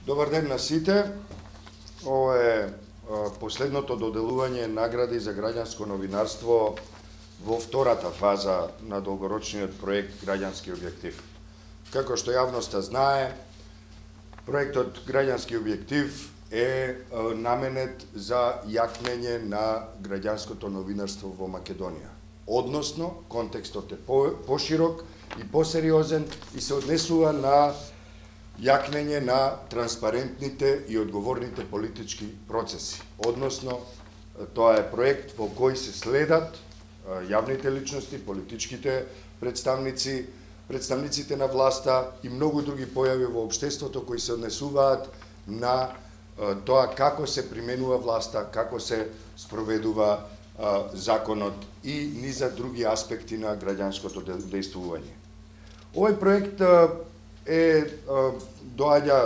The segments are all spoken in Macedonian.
Добар ден на сите. Ова е последното доделување награди за граѓанско новинарство во втората фаза на долгорочниот проект Граѓански објектив. Како што јавноста знае, проектот Граѓански објектив е наменет за јакнење на граѓанското новинарство во Македонија. Односно, контекстот е поширок и посериозен и се однесува на јакнење на транспарентните и одговорните политички процеси. Односно, тоа е проект во кој се следат јавните личности, политичките представници, представниците на власта и многу други појави во општеството кои се однесуваат на тоа како се применува власта, како се спроведува законот и низа други аспекти на граѓанското дејствување. Овој проект доаѓа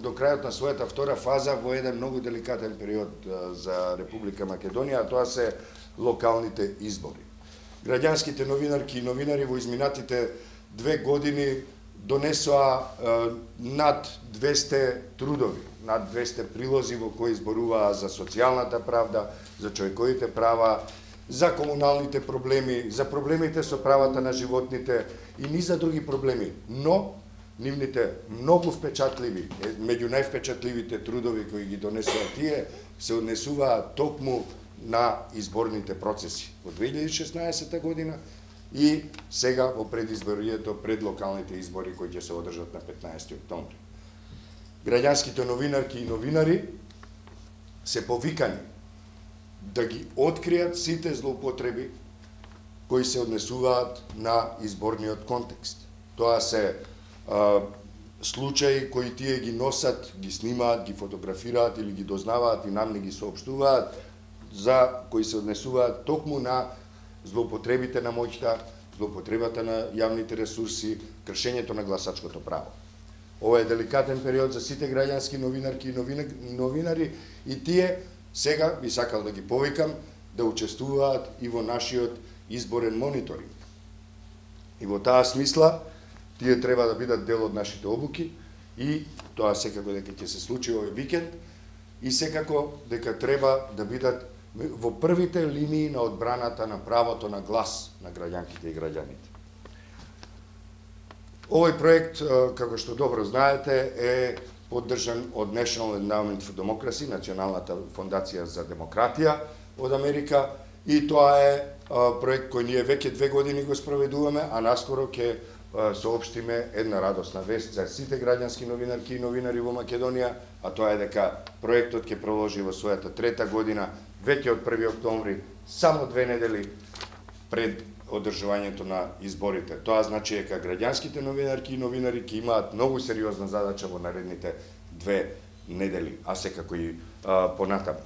до крајот на својата втора фаза во еден многу деликатен период за Република Македонија, а тоа се локалните избори. Граѓанските новинарки и новинари во изминатите 2 години донесоа над 200 трудови, над 200 прилози во кои зборуваа за социјалната правда, за човековите права, за комуналните проблеми, за проблемите со правата на животните и низа други проблеми, но нивните многу впечатливи, меѓу највпечатливите трудови кои ги донесоа тие, се однесуваат токму на изборните процеси во 2016 година и сега во предизборието пред локалните избори кои ќе се одржат на 15 октомври. Граѓанските новинарки и новинари се повикани да ги откријат сите злоупотреби кои се однесуваат на изборниот контекст. Тоа се случаи кои тие ги носат, ги снимаат, ги фотографираат или ги дознаваат и нам не ги соопштуваат, за кои се однесуваат токму на злоупотребите на моќта, злоупотребата на јавните ресурси, кршењето на гласачкото право. Ова е деликатен период за сите граѓански новинарки и новинари и тие сега би сакал да ги повикам да учествуваат и во нашиот изборен мониторинг. И во таа смисла, тие треба да бидат дел од нашите обуки и тоа секако дека ќе се случи овој викенд и секако дека треба да бидат во првите линии на одбраната на правото на глас на граѓанките и граѓаните. Овој проект, како што добро знаете, е поддржан од National Endowment for Democracy, Националната фондација за демократија од Америка, и тоа е проект кој ние веќе 2 години го спроведуваме, а наскоро ќе соопштиме една радосна вест за сите граѓански новинарки и новинари во Македонија, а тоа е дека проектот ќе продолжи во својата 3-та година, веќе од 1 октомври, само 2 недели пред одржувањето на изборите. Тоа значи дека граѓанските новинарки и новинари ќе имаат многу сериозна задача во наредните 2 недели, а секако и понатаму.